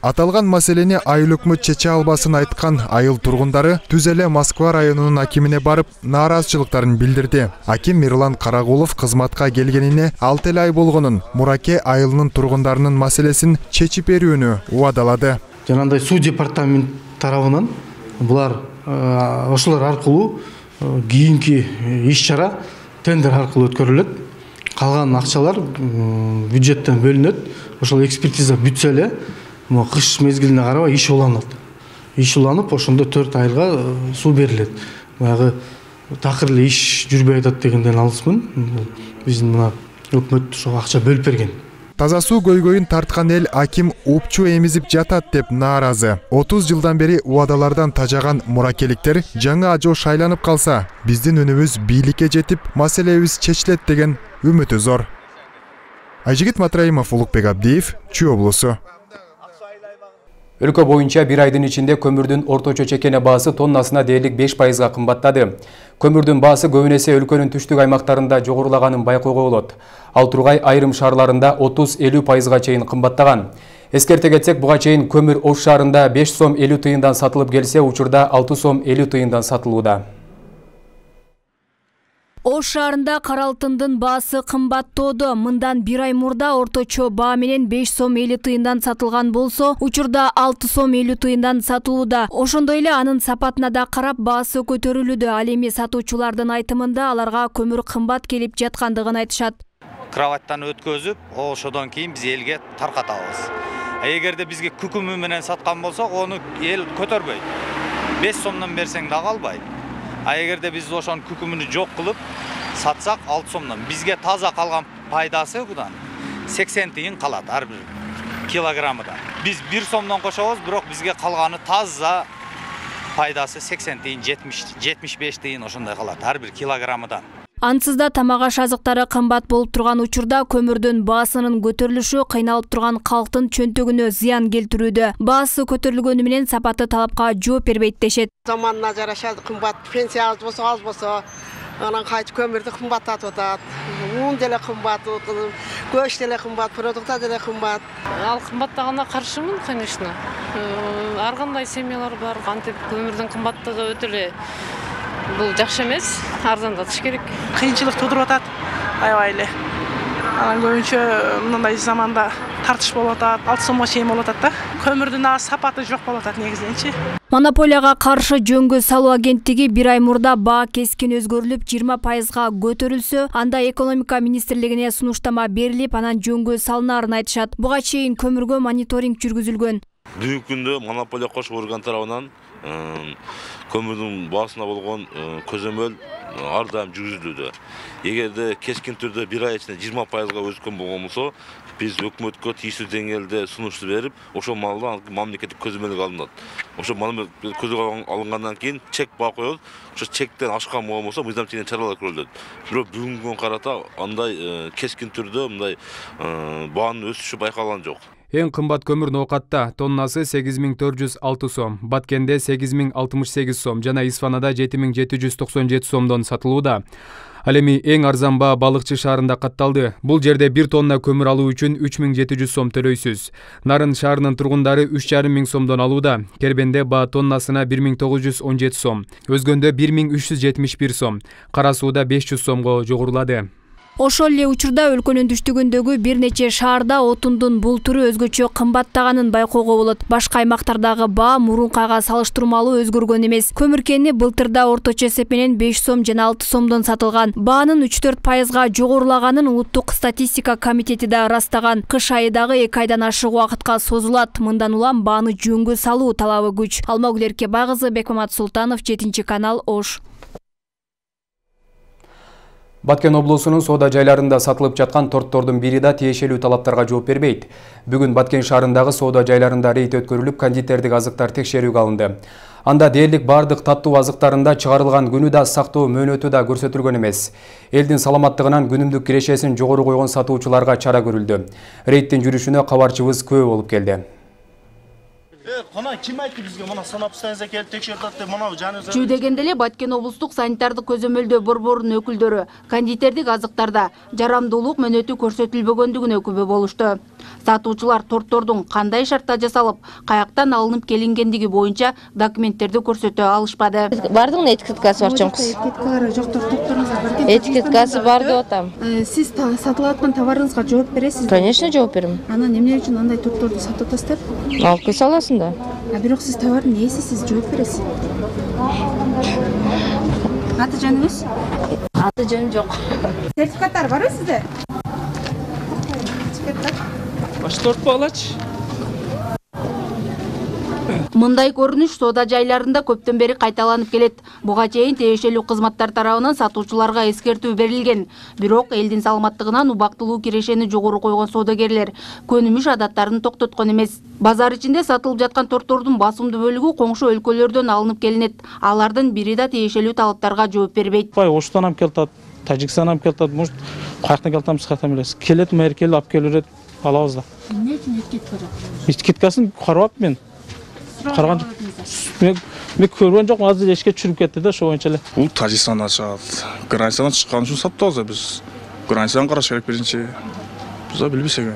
Аталган маселени айыл өкмөт чече албасын айткан айыл тургундары түз эле Москва районунун акимине барып нааразычылыктарын билдирди. Аким Мирлан Карагулов кызматка келгенине 6 ай болгонун, Мураке айылынын тургундарынын маселесин чечип берүүнү убадалады. Жанагындай суу департамент тарабынан булар ошолор аркылуу кийинки иш-чара тендер аркылуу өткөрүлөт. Калган акчалар бюджеттен бөлүнөт. Ошол экспертиза бүтсө эле, кыш мезгилине карабай иш уланат. Иш уланып, ошондо 4 айга суу берилет. Баягы такыр эле иш жүрбөй атат дегенден алысмын. Биздин мына өкмөт ошого акча бөлүп берген. Таза суу көйгөйүн тарткан эл аким упчу эмизип жатат деп нааразы. 30 жылдан бери убадалардан тажаган муракеликтер жаңы ажоо шайланып калса, биздин үнүбүз бийликке жетип, маселебиз чечилет деген үмүтү зор. Айжигит Матраимов, Улукбек Абдиев, Чүй облусу. Өлкө боюнча бир айдын ичинде көмүрдүн орточо чекене баасы тоннасына дээрлик 5%га кымбаттады. Көмүрдүн баасы көбүн эсе өлкөнүн түштүк аймактарында жогорулаганын байкоого болот. Ал тургай айрым шаарларында 30-50%га чейин кымбаттаган. Эскерте кетсек, буга чейин көмүр Ош шаарында 5 сом 50 тыйындан сатылып келсе, учурда 6 сом 50 тыйындан сатылууда. Ош шаарында кара алтындын баасы кымбаттоодо. Мындан бир ай мурда орточо баа менен 5 сом 50 тыйындан сатылган болсо, учурда 6 сом 50 тыйындан сатылууда. Ошондой эле анын сапатына да карап баасы көтөрүлүүдө. Ал эми сатуучулардын айтымында аларга көмүр кымбат келип жаткандыгын айтышат. кроваттан өткөзүп, ошодон кийин биз элге таркатабыз. Эгерде бизге күкүмү менен саткан болсок, ону эл көтөрбөйт. 5 сомдон берсең да калбайт. Эгерде биз ошонун күкүмүнү жок кылып сатсак 6 сомдон, бизге таза калган пайдасы будан 80 тиын калат ар бир килограммыдан. Биз 1 сомдон кошобуз, бирок бизге калганы таза пайдасы 80 тиын, 75 тиын ошондой калат ар бир килограммыдан. Ансыз да тамак аш азыктары кымбат болуп турган учурда көмүрдүн баасынын көтөрүлүшү кыйналып турган калктын чөнтөгүнө зыян келтирүүдө. Баасы көтөрүлгөнү менен сапаты талапка жооп бербейт дешет. Заманына жараша кымбат, пенсия аз болсо, анан кайтып көмүрдү кымбаттатып атат. Ун деле кымбат, көч деле кымбат, продукттар деле кымбат. Ал кымбаттаганына каршымын, конечно. Ар кандай семьялар бар, кантип көмүрдүн кымбаттыгы өтө эле бул жакшы эмес, арзандатыш керек. Кыйынчылык тудуруп атат, аябай эле. Анан көбүнчө мындай заманда тартыш болуп атат, 6 сомго чейин болуп атат да. Көмүрдүн сапаты жок болуп атат негизинчи. Монополияга каршы жөнгө салуу агенттиги 1 ай мурда баа кескен өзгөрүлүп 20%га көтөрүлсө, анда экономика министрлигине сунуштама берилип, анан жөнгө салынаарын айтышат. Буга чейин көмүргө мониторинг жүргүзүлгөн. Бүгүнкү күндө монополия кош орган тарабынан көмүрдүн баасына болгон көзөмөл ар дайым жүргүзүлүүдө. Эгерде кескин түрдө 1 ай ичинде 20%га өскөн болгон болсо, биз өкмөткө тийиштүү деңгээлде сунушту берип, ошол маалда мамлекеттик көзөмөлгө алынат. Ошол көзөмөл алынгандан кийин чек баа коёбуз. Ошо чектен ашкан болгон болсо, мыйзам чегинен чаралар көрүлөт. Бирок бүгүнкү күнгө карата андай кескин түрдө мындай баанын өсүшү байкалган жок. Эң кымбат көмүр Ноокатта тоннасы 8406 сом, Баткенде 8068 сом жана Исфанада 7797 сомдон сатылууда. Ал эми эң арзан баа Балыкчы шаарында катталды. Бул жерде 1 тонна көмүр алуу үчүн 3700 сом төлөйсүз. Нарын шаарынын тургундары 3500 сомдон алууда. Кербенде баа тоннасына 1917 сом, Өзгөндө 1371 сом, Кара Сууда 500 сомго жогорулады. Ошол эле учурда өлкөнүн түштүгүндөгү бир нече шаарда отундун бул түрү өзгөчө кымбаттаганын байкоого болот. Башка аймактардагы баа мурункага салыштырмалуу өзгөргөн эмес. Көмүр кени былтырда орточо эсеп менен 5 сом жана 6 сомдон сатылган. Баанын 3-4%га жогорулаганын Улуттук статистика комитети да ырастаган. Кыш айы дагы 2 айдан ашык убакытка созулат. Мындан улам бааны жөнгө салуу талабы күч. Алмагүл Эркебай кызы, Бекмамат Султанов, 7-канал, Ош. Баткен облусунун соода жайларында сатылып жаткан торттордун бири да тиешелүү талаптарга жооп бербейт. Бүгүн Баткен шаарындагы соода жайларында рейд өткөрүлүп, кондитердик азыктар текшерүүгө алынды. Анда дээрлик бардык таттуу азыктарында чыгарылган күнү да сактоо мөөнөтү да көрсөтүлгөн эмес. Элдин саламаттыгынан күнүмдүк кирешесин жогору койгон сатуучуларга чара көрүлдү. Рейдтин жүрүшүнө кабарчыбыз күбө болуп келди. Кана ким айтты бизге мына санап станция келип текшерди деп мына жаныбыз. Жүү дегенде эле Баткен облустук санитардык көзөмөлдөө борборунун өкүлдөрү кондитердик азыктарда жарамдуулук мөөнөтү көрсөтүлбөгөндүгүнө күбө болушту. Сатуучулар тортордун кандай шартта жасалып, каяктан алынып келингендиги боюнча документтерди көрсөтө алышпады. Бардыгынын этикеткасы бар чоңкус. Этикеткалары жоктур, торторуңузга бар. Этикеткасы бар деп атам. Сиз сатылып аткан товарыңызга жооп бересизби? Конечно, жооп берем. Анан эмне үчүн андай торторду сатып атасыздар? Алып кете аласың да. Бирок сиз товардын ээси, сиз жооп бересиз. Аты жөнүңүз? Аты жөн жок. Сертификаттар барбы сизде? Баш тортпу алачы? Мындай көрүнүш соода жайларында көптөн бери кайталанып келет. Буга чейин тиешелүү кызматтар тарабынан сатуучуларга эскертүү берилген. Бирок элдин саламаттыгынан убактылуу кирешени жогору койгон соодагерлер көнүмүш адаттарын токтоткон эмес. Базар ичинде сатылып жаткан тортордун басымдуу бөлүгү коңшу өлкөлөрдөн алынып келинет. Алардын бири да тиешелүү талаптарга жооп бербейт. Оштан алып келатат, Тажикстан алып келатат, может, каяктан келатамыз, каяктан билесиз. Келет, меркелип алып келет, алабыз да. Эмне үчүн этикетка жок? Этикеткасын карабап мен. Караган мен көргөн жокмун, азыр эшикке чүрүп кетти да, ошо боюнча эле. Бул Тажикстандан чыгат. Границадан чыккан үчүн сатабыз биз. Границадан караш керек биринчи. Биз да билбесек.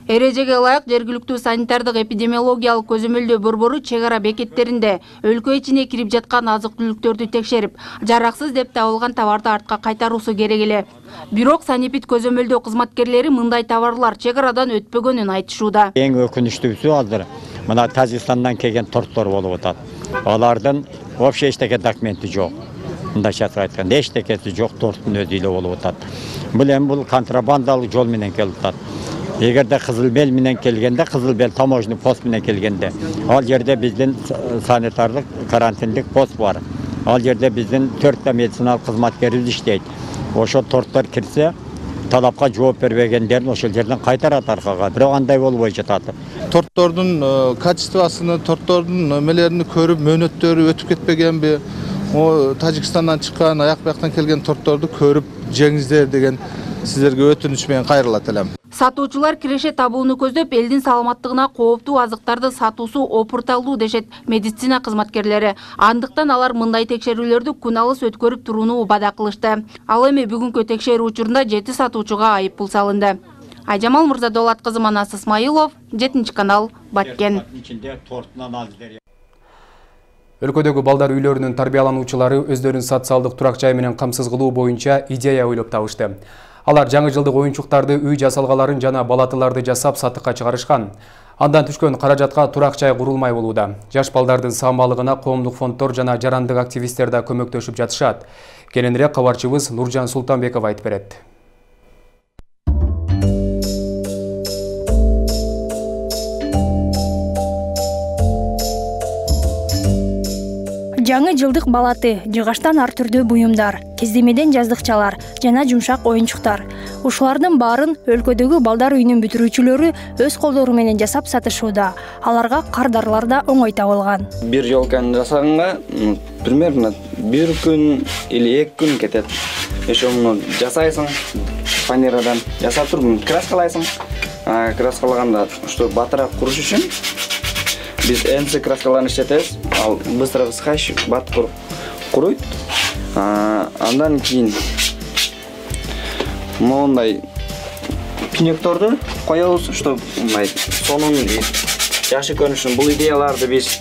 Эрежеге ылайык жергиликтүү санитардык эпидемиологиялык көзөмөлдөө борбору чек ара бекеттеринде өлкө ичине кирип жаткан азык-түлүктөрдү текшерип, жараксыз деп табылган товарды артка кайтаруусу керек эле. Бирок санэпид көзөмөлдөө кызматкерлери мындай товарлар чек арадан өтпөгөнүн айтышууда. Эң өкүнүчтүүсү азыр мына Тажикстандан келген торттор болуп атат. Алардын вообще эчтеке документи жок. мындайча айтканда эчтекеси жок торттун өзү эле болуп атат. Бул эми бул контрабандалык жол менен келип атат. Эгерде Кызыл Бел менен келгенде, Кызыл Бел таможенный пост менен келгенде, ал жерде биздин санитардык карантиндик пост бар. Ал жерде биздин 4 медициналык кызматкерибиз иштейт. Ошо торттор кирсе, талапка жооп бербегендерин ошол жерден кайтарат аркага. Бирок андай болбой жатат. Торттордун качествосун, торттордун немелерин көрүп, мөөнөттөрү өтүп кетпегенби? О Тажикстандан чыккан, аяк бияктан келген тортторду көрүп жеңиздер деген сиздерге өтүнүч менен кайрылат элем. Сатуучулар киреше табууну көздөп, элдин саламаттыгына кооптуу азыктарды сатуусу опурталдуу дешет медицина кызматкерлери. Андыктан алар мындай текшерүүлөрдү күн алыс өткөрүп турууну убада кылышты. Ал эми бүгүнкү текшерүү учурунда 7 сатуучуга айыппул салынды. Айжамал Мырзадолат кызы, Манас Исмаилов, 7-канал, Баткен. Өлкөдөгү балдар үйлөрүнүн тарбиялануучулары өздөрүн социалдык турак жай менен камсыз кылуу боюнча идея ойлоп табышты. Алар жаңы жылдык оюнчуктарды, үй жасалгаларын жана балатыларды жасап сатыкка чыгарышкан. Андан түшкөн каражатка турак жай курулмай болууда. Жаш балдардын саамалыгына коомдук фонддор жана жарандык активисттер да көмөктөшүп жатышат. Кененирээк кабарчыбыз Нуржан Султанбеков айтып берет. Жаңы жылдык балаты, жыгаштан ар түрдүү буюмдар, кездемеден жаздыкчалар жана жумшак оюнчуктар. Ушулардын баарын өлкөдөгү балдар үйүнүн бүтүрүүчүлөрү өз колдору менен жасап сатышууда. Аларга кардарлар да оңой табылган. Бир ёлканы жасаганга примерно 1 күн или 2 күн кетет. Ошону жасайсың, фанерадан жасап туруп краскалайсың. Краскалаганда ошто батыраак куруш үчүн biz ensi kraskalarını işletiriz. Al bыстро высыхающий бат куруйт. Андан кийин мондай пинекторду коебуз, что мындай сонун жакшы көрүнүшүн. Бул идеяларды биз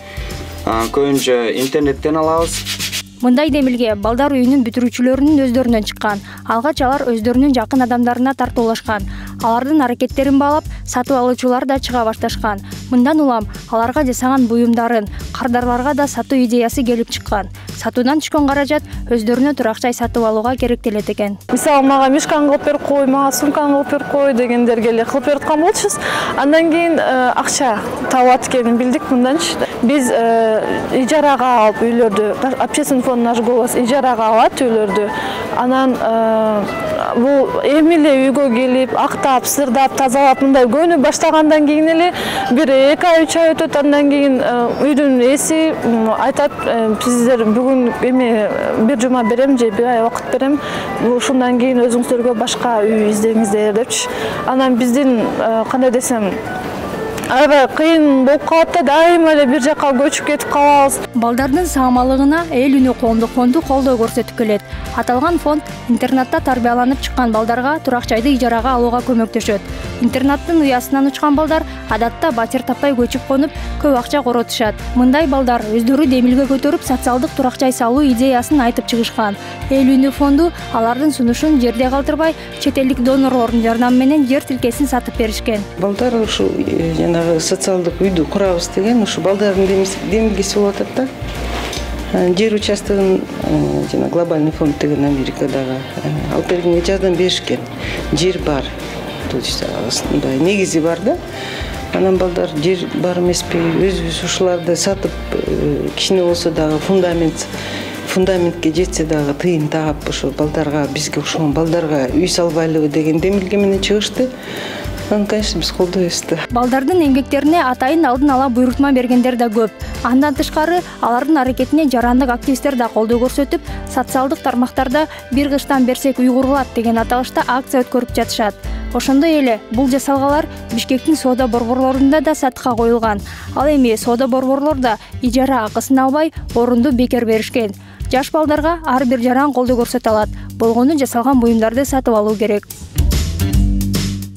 көбүнчө интернеттен алабыз. Мындай демилге балдар үйүнүн бүтүрүүчүлөрүнүн өздөрүнөн чыккан. Алгач алар өздөрүнүн жакын адамдарына тартуулашкан. Алардын аракеттерин баалап, сатып алуучулар да чыга башташкан. Мындан улам аларга жасаган буюмдарын кардарларга да сатуу идеясы келип чыккан. Сатуудан түшкөн каражат өздөрүнө турак жай сатып алууга керектелет экен. Мисалы мага мешканы кылып берип кой, мага сумканы кылып берип кой дегендерге эле кылып берип аткан болчубуз. Андан кийин акча табат экенин билдик мынданчы. Биз ижарага алып үйлөрдү, общественный фонд наш голос ижарага алат үйлөрдү. Анан бул эми эле үйгө келип, актап, сырдап, тазалап мындай көнү баштагандан кийин эле бир 2 ай 3 ай өтөт. Андан кийин үйдүн эси айтат, сиздер бүгүн эми бир жума берем же 1 ай убакыт берем. Ушундан кийин өзүңүздөргө башка үй издеңиздер депчи. Анан биздин кандай десем аябай кыйын болуп калат да, дайыма эле бир жака көчүп кетип калабыз. Балдардын саамалыгына эл үнү коомдук фонду колдоо көрсөтүп келет. Аталган фонд интернатта тарбияланып чыккан балдарга турак жайды ижарага алууга көмөктөшөт. Интернаттын уясынан учкан балдар адатта батир таппай көчүп конуп, көп акча коротушат. Мындай балдар өздөрү демилге көтөрүп социалдык турак жай салуу идеясын айтып чыгышкан. Эл үнү фонду алардын сунушун жерде калтырбай, чет элдик донорлордун жардамы менен жер тилкесин сатып беришкен. Балдар ушу социалдык үйдү курабыз деген ушу балдардын демилгеси болуп атат да. Жер участогун жана глобальный фонд деген Америкадагы алып бергенге жардам беришкен. Жер бар. То есть мындай негизи бар да. Анан балдар жер бар эмеспи, өзүбүз ушуларды сатып кичине болсо дагы фундаментке жетсе дагы тыйын таап ошо балдарга, бизге окшогон балдарга үй салбайлыбы деген демилге менен чыгышты. Конечно, биз колдойбуз да. Балдардын эмгектерине атайын алдын ала буйрутма бергендер да көп. Андан тышкары алардын аракетине жарандык активисттер да колдоо көрсөтүп, социалдык тармактарда бир кыштан берсек үй курулат деген аталышта акция өткөрүп жатышат. Ошондой эле бул жасалгалар Бишкектин соода борборлорунда да сатыкка коюлган. Ал эми соода борборлордо ижара акысын албай, орунду бекер беришкен. Жаш балдарга ар бир жаран колдоо көрсөтө алат. Болгону жасалган буюмдарды сатып алуу керек.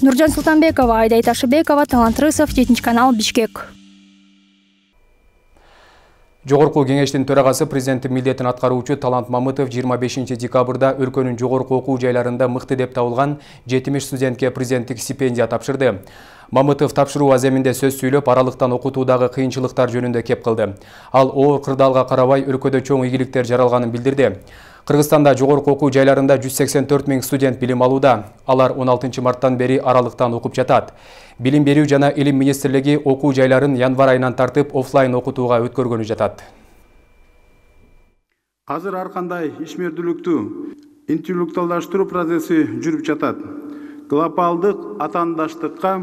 Нуржан Султанбекова, Айдай Ташыбекова, Талант Рысов, 7-канал, Бишкек. Жогорку кеңештин төрагасы президенттин милдетин аткаруучу Талант Мамытов 25 декабрда өлкөнүн жогорку окуу жайларында мыкты деп табылган 70 студентке президенттик стипендия тапшырды. Мамытов тапшыруу аземинде сөз сүйлөп, аралыктан окутуудагы кыйынчылыктар жөнүндө кеп кылды. Ал оор кырдаалга карабай өлкөдө чоң ийгиликтер жаралганын билдирди. Кыргызстанда жогорку окуу жайларында 184 000 студент билим алууда. Алар 16 марттан бери аралыктан окуп жатат. Билим берүү жана илим министрлиги окуу жайларын январь айынан тартып офлайн окутууга өткөргөнү жатат. Азыр ар кандай ишмердүүлүктү интеллектуалдаштыруу процесси жүрүп жатат. Глобалдык атаандаштыкка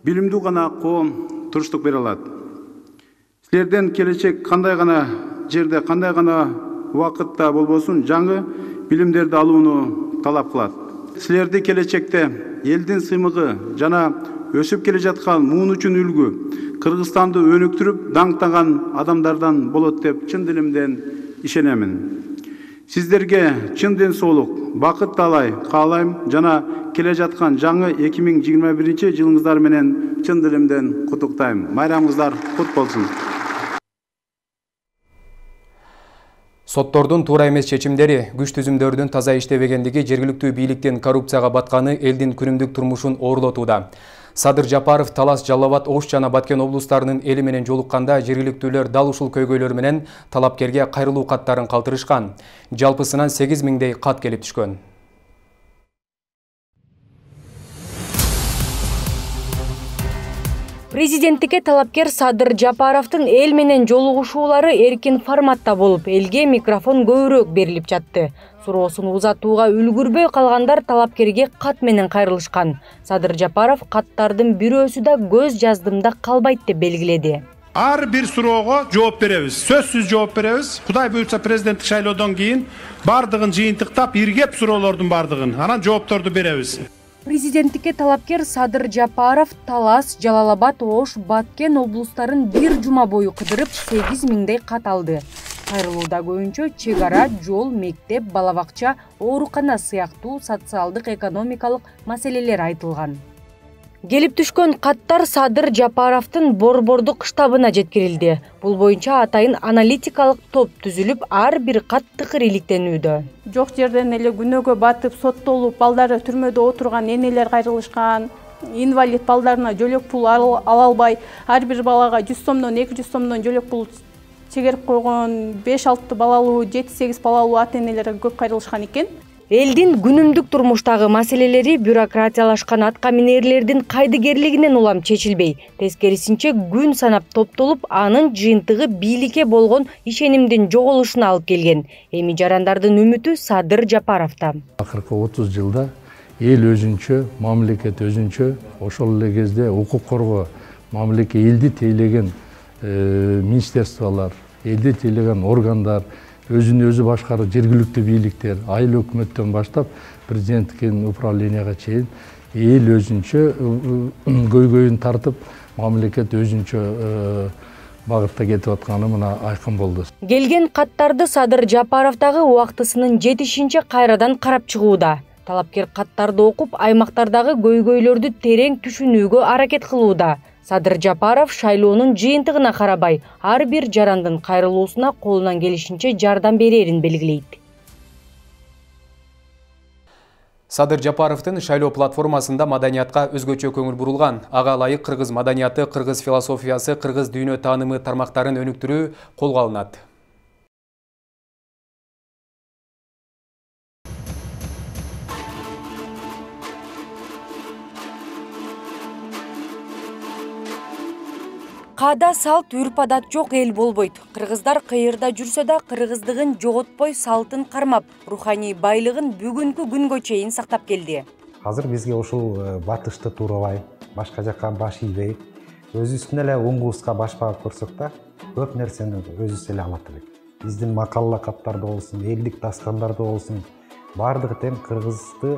билимдүү гана коом туруштук бере алат. Силерден келечек кандай гана жерде, кандай гана убакытта болбосун жаңы билимдерди алууну талап кылат. Силерди келечекте элдин сыймыгы жана өсүп келе жаткан муун үчүн үлгү, Кыргызстанды өнүктүрүп даңктаган адамдардан болот деп чын дилимден ишенемин. Сиздерге чын ден соолук, бакыт каалайм жана келе жаткан жаңы 2021 жылыңыздар менен чын дилимден куттуктайм. Майрамыңыздар кут болсун. Соттордун туура эмес чечимдери, күч түзүмдөрдүн таза иштебегендиги жергиликтүү бийликтин коррупцияга батканы элдин күнүмдүк турмушун оорлотууда. Садыр Жапаров Талас, Жалал Абад, Ош жана Баткен облустарынын эли менен жолукканда жергиликтүүлөр дал ушул көйгөйлөр менен талапкерге кайрылуу каттарын калтырышкан. Жалпысынан 8 000дей кат келип түшкөн. Президенттикке талапкер Садыр Жапаровдун эл менен жолугушуулары эркин форматта болуп, элге микрофон көбүрөөк берилип жатты. Суроосун узатууга үлгүрбөй калгандар талапкерге кат менен кайрылышкан. Садыр Жапаров каттардын бирөөсү да көз жаздымда калбайт деп белгиледи. Ар бир суроого жооп беребиз. Сөзсүз жооп беребиз. Кудай буйрса президенттик шайлоодон кийин бардыгын жыйынтыктап, иргеп суроолордун бардыгын, анан жоопторду беребиз. Президенттикке талапкер Садыр Жапаров Талас, Жалал Абад, Ош, Баткен облустарын бир жума бою кыдырып 8 000дей кат алды. Кайрылууда көбүнчө чек ара, жол, мектеп, бала бакча, оорукана сыяктуу социалдык экономикалык маселелер айтылган. Келип түшкөн каттар Садыр Жапаровдун борбордук штабына жеткирилди. Бул боюнча атайын аналитикалык топ түзүлүп, ар бир кат тыкыр иликтенүүдө. Жок жерден эле күнөөгө батып, соттолуп, балдары түрмөдө отурган энелер кайрылышкан. Инвалид балдарына жөлөк пул ала албай, ар бир балага 100 сомдон 200 сомдон жөлөк пул чегерип койгон 5-6 балалуу, 7-8 балалуу ата-энелер көп кайрылышкан экен. Элдин күнүмдүк турмуштагы маселелери бюрократиялашкан атка минерлердин кайдыгерлигинен улам чечилбей, тескерисинче күн санап топтолуп, анын жыйынтыгы бийликке болгон ишенимдин жоголушуна алып келген. Эми жарандардын үмүтү Садыр Жапаровдо. Акыркы 30 жылда эл өзүнчө, мамлекет өзүнчө, ошол эле кезде укук коргоо, мамлекет элди тейлеген министерстволор, элди тейлеген органдар, өзүн өзү башкаруу жергиликтүү бийликтер, айыл өкмөттөн баштап президенттик управленияга чейин эл өзүнчө көйгөйүн тартып, мамлекет өзүнчө багытта кетип атканы мына айкын болду. Келген каттарды Садыр Жапаров дагы убактысынын жетишинче кайрадан карап чыгууда. Талапкер каттарды окуп, аймактардагы көйгөйлөрдү терең түшүнүүгө аракет кылууда. Садыр Жапаров шайлоонун жыйынтыгына карабай, ар бир жарандын кайрылуусуна колунан келишинче жардам берерин белгилейт. Садыр Жапаровдун шайлоо платформасында маданиятка өзгөчө көңүл бурулган. Ага ылайык кыргыз маданияты, кыргыз философиясы, кыргыз дүйнө таанымы тармактарын өнүктүрүү колго алынат. Каада салт үрп адат жок эл болбойт. Кыргыздар кыйырда жүрсө да кыргыздыгын жоготпой салтын кармап, руханий байлыгын бүгүнкү күнгө чейин сактап келди. Азыр бизге ушул батышты туурабай, башка жакка баш ийбей, өзүбүздүн эле уңгубузга баш багып көрсөк да, көп нерсени өзүбүз эле алат элек. Биздин макал лакаптарда болсун, элдик дастандарда болсун, баардыгы тең кыргызды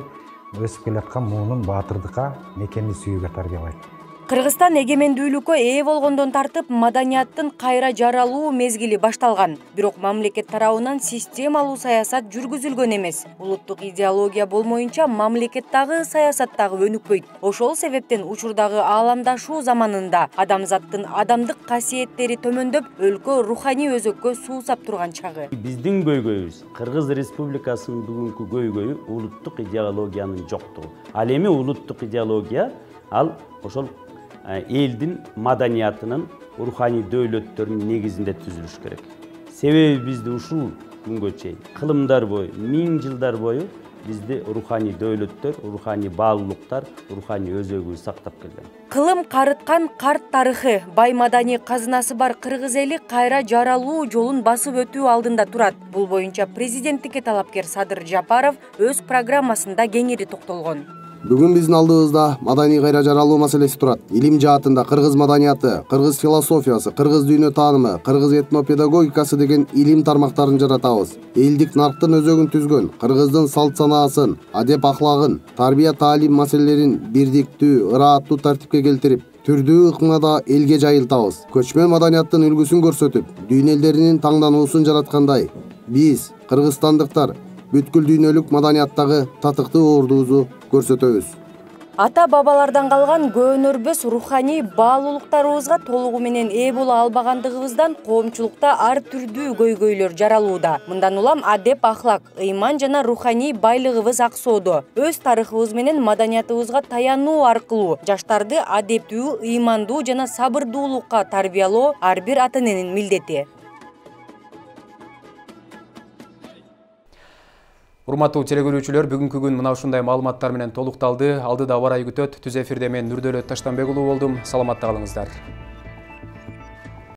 өсүп келаткан муунун баатырдыкка, мекенди сүйүүгө тарбиялайт. Кыргызстан эгемендүүлүккө ээ болгондон тартып маданияттын кайра жаралуу мезгили башталган. Бирок мамлекет тарабынан системалуу саясат жүргүзүлгөн эмес. Улуттук идеология болмоюнча мамлекеттагы саясаттагы өнүкпөйт. Ошол себептен учурдагы ааламдашуу заманында адамзаттын адамдык касиеттери төмөндөп, өлкө руханий өзөккө суусап турган чагы. Биздин көйгөйүбүз Кыргыз Республикасынын бүгүнкү көйгөйү улуттук идеологиянын жоктугу. Ал эми улуттук идеология ал ошол элдин маданиятынын руханий дөөлөттөрүнүн негизинде түзүлүш керек. Себеби бизди ушул күнгө чейин кылымдар бою, 1000 жылдар бою бизди руханий дөөлөттөр, руханий баалуулуктар, руханий өзөгү сактап келген. Кылым карыткан карт тарыхы, бай маданий казынасы бар кыргыз эли кайра жаралуу жолун басып өтүү алдында турат. Бул боюнча президенттикке талапкер Садыр Жапаров өз программасында кеңири токтолгон. Бүгүн биздин алдыбызда маданий кайра жаралуу маселеси турат. Илим жаатында кыргыз маданияты, кыргыз философиясы, кыргыз дүйнө таанымы, кыргыз этнопедагогикасы деген илим тармактарын жаратабыз. Элдик нарктын өзөгүн түзгөн, кыргыздын салт санаасын, адеп ахлагын, тарбия таалим маселелерин бирдиктүү, ырааттуу тартипке келтирип, түрдүү ыкмада элге жайылтабыз. Көчмөн маданияттын үлгүсүн көрсөтүп, дүйнө элдеринин таңдануусун жараткандай, биз кыргызстандыктар бүткүл дүйнөлүк маданияттагы татыктуу ордубузду көрсөтөбүз. Ата бабалардан калган көөнөрбөс руханий баалуулуктарыбызга толугу менен ээ боло албагандыгыбыздан коомчулукта ар түрдүү көйгөйлөр жаралууда. Мындан улам адеп ахлак, ыйман жана руханий байлыгыбыз аксоодо. Өз тарыхыбыз менен маданиятыбызга таянуу аркылуу жаштарды адептүү, ыймандуу жана сабырдуулукка тарбиялоо ар бир ата-эненин милдети. Урматтуу телекөрүүчүлөр, бүгүнкү күн мына ушундай маалыматтар менен толукталды. Алдыда аба ырайы күтөт. Түз эфирде мен Нурдөлөт Таштанбек уулу болдум. Саламатта калыңыздар.